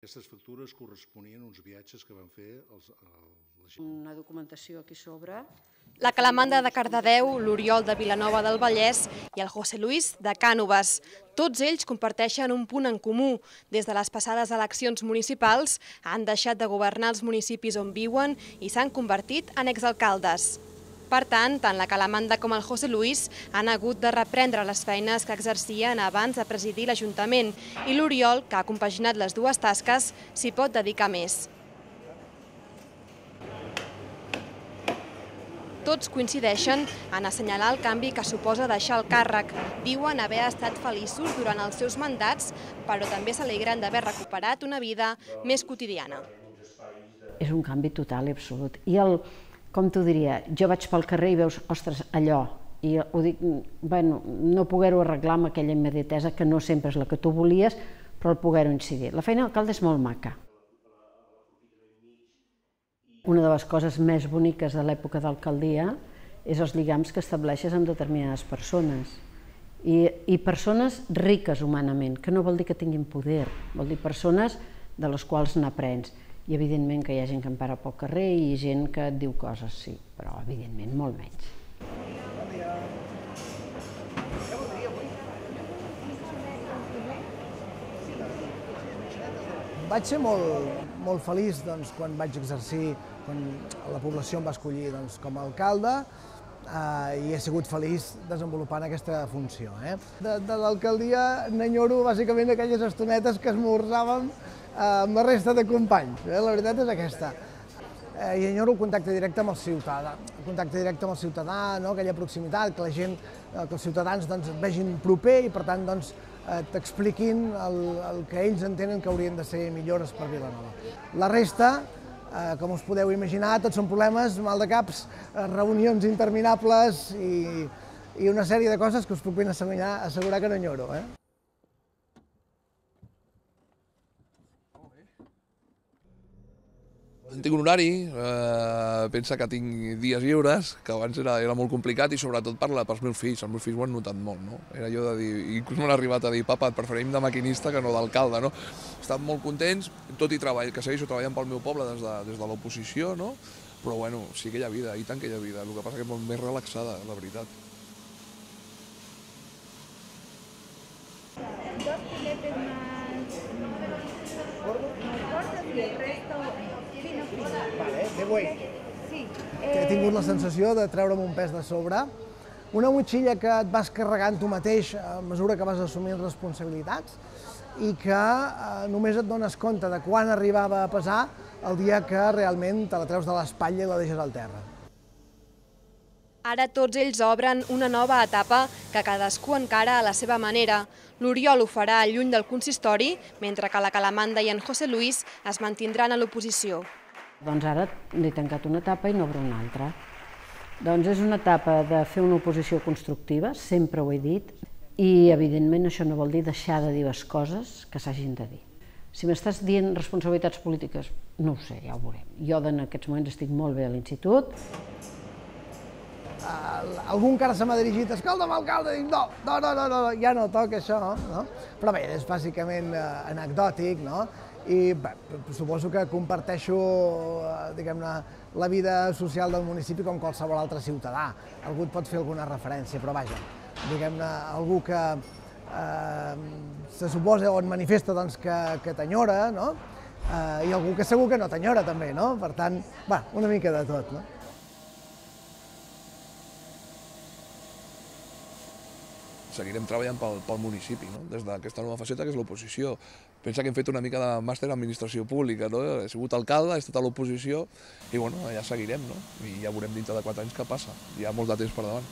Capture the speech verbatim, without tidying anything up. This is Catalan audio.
Aquestes factures corresponien a uns viatges que van fer els, la gent. Una documentació aquí sobre. La Calamanda de Cardedeu, l'Oriol de Vilanova del Vallès i el José Luis de Cànoves. Tots ells comparteixen un punt en comú. Des de les passades eleccions municipals han deixat de governar els municipis on viuen i s'han convertit en exalcaldes. Per tant, tant la Calamanda com el José Luis han hagut de reprendre les feines que exercien abans de presidir l'Ajuntament i l'Oriol, que ha compaginat les dues tasques, s'hi pot dedicar més. Tots coincideixen en assenyalar el canvi que suposa deixar el càrrec. Diuen haver estat feliços durant els seus mandats, però també s'alegren d'haver recuperat una vida més quotidiana. És un canvi total i absolut. I el, com t'ho diria, jo vaig pel carrer i veus, ostres, allò, i ho dic, bueno, no poder-ho arreglar amb aquella immediatesa que no sempre és la que tu volies, però el poder-ho incidir. La feina d'alcalde és molt maca. Una de les coses més boniques de l'època d'alcaldia és els lligams que estableixes amb determinades persones. I, i persones riques humanament, que no vol dir que tinguin poder, vol dir persones de les quals n'aprens. I evidentment que hi ha gent que em para pel carrer i gent que et diu coses, sí, però evidentment molt menys. Vaig ser molt, molt feliç doncs, quan vaig exercir, quan la població em va escollir doncs, com a alcalde eh, i he sigut feliç desenvolupant aquesta funció. Eh? De, de l'alcaldia n'enyoro bàsicament aquelles estonetes que esmorzàvem eh, amb la resta de companys. Eh? La veritat és aquesta. Eh, I enyoro el contacte directe amb el ciutadà, el contacte directe amb el ciutadà, no? Aquella proximitat, que la gent, eh, que els ciutadans doncs, et vegin proper i per tant doncs, t'expliquin el, el que ells entenen que haurien de ser millores per Vilanova. La resta, eh, com us podeu imaginar, tots són problemes, mal de caps, reunions interminables i, i una sèrie de coses que us puc ben assegurar, assegurar que no enyoro. Eh? Tinc un horari, eh, pensa que tinc dies lliures, que abans era, era molt complicat i sobretot per la, pels meus fills, els meus fills ho han notat molt, no? Era allò de dir, inclús m'han arribat a dir, papa, et preferim de maquinista que no d'alcalde, no? Estan molt contents, tot i treball, que segueixo treballant pel meu poble des de, des de l'oposició, no? Però bueno, sí que hi ha vida, i tant que hi ha vida, el que passa que és molt més relaxada, la veritat. Dos filetes más cortos y el resto fino fino. Vale, de buey. Sí. He tingut la sensació de treure'm un pes de sobre, una motxilla que et vas carregant tu mateix a mesura que vas assumint responsabilitats i que eh, només et dones compte de quan arribava a pesar el dia que realment te la treus de l'espatlla i la deixes al terra. Ara tots ells obren una nova etapa que cadascú encara a la seva manera. L'Oriol ho farà lluny del consistori, mentre que la Calamanda i en José Luis es mantindran a l'oposició. Doncs ara n'he tancat una etapa i n'obro una altra. Doncs és una etapa de fer una oposició constructiva, sempre ho he dit, i evidentment això no vol dir deixar de dir les coses que s'hagin de dir. Si m'estàs dient responsabilitats polítiques, no ho sé, ja ho veurem. Jo en aquests moments estic molt bé a l'institut. Uh, algú encara se m'ha dirigit, escolta'm, alcalde, dic, no, no, no, no, no, ja no toca això, no? Però bé, és bàsicament uh, anecdòtic, no? I bé, suposo que comparteixo, uh, diguem-ne, la vida social del municipi com qualsevol altre ciutadà. Algú et pot fer alguna referència, però vaja, diguem-ne, algú que uh, se suposa o et manifesta doncs, que, que t'enyora, no? Uh, I algú que segur que no t'enyora també, no? Per tant, va, una mica de tot, no? Seguirem treballant pel, pel municipi, no? Des d'aquesta nova faceta que és l'oposició. Pensa que hem fet una mica de màster en administració pública, no? He sigut alcalde, he estat a l'oposició i bueno, ja seguirem, no? I ja veurem dintre de quatre anys què passa. Hi ha molt de temps per davant.